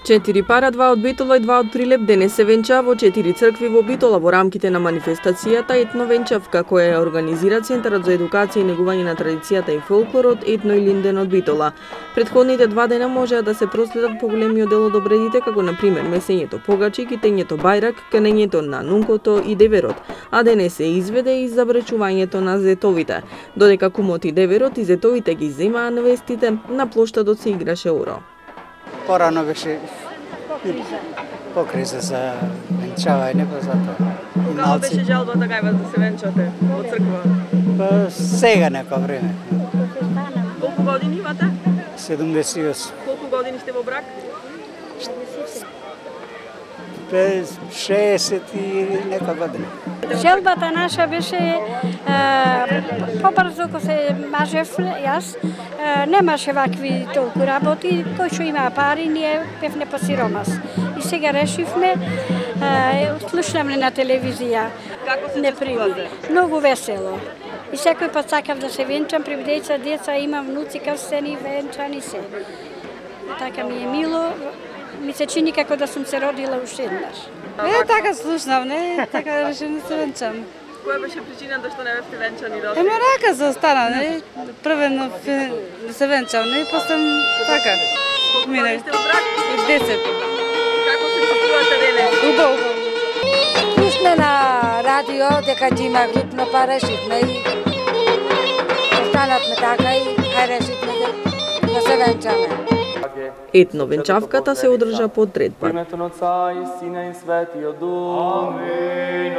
4 пара, 2 од Битола и 2 од Прилеп денес се венчаа во 4 цркви во Битола во рамките на манифестацијата Етно венчавка, која ја организира Центарот за едукација и негување на традицијата и фолклорот Етно и Линден од Битола. Предходните 2 дена можеа да се проследат поголемиот дел од обредите, како на пример месењето погачи, китењето бајрак, канењето на нункото и деверот, а денес се изведе и забречувањето на зетовите. Додека кумот и деверот и зетовите ги земаа невестите, на плоштадот се играше оро. Порано беше по криза за венчавање, па затоа. Кога беше жалбата кај вас да се венчате во црква? Па сега некој време. Колку години имате? 78. Колку години сте во брак? 60 и нека година. Желбата наша беше побрзо кога се мажев јас, немаше вакви толку работи, кој што има пари, ние певне по сиромас. И сега решивме, слушнавме на телевизија. Како се чувствувате? Многу весело. И секој пат сакав да се венчам, при деца имам внуци крстени, венчани се. Така ми е мило, ми се чини како да сум се родила уште еднаш. Така слушнав, така решив да се венчам. Која беше причината што не бевте венчани до? Рака се остана, првено да се венчам, после така. Колку години сте во брак? 10. Како се чувствувате денес? Убаво. Слушна на радио дека ќе има глупно, па решивме и останавме така и решивме да се венчаме. Етно венчавката се одржа по трет пат. Во името на Отца и Сина и Светиот Дух. Амин.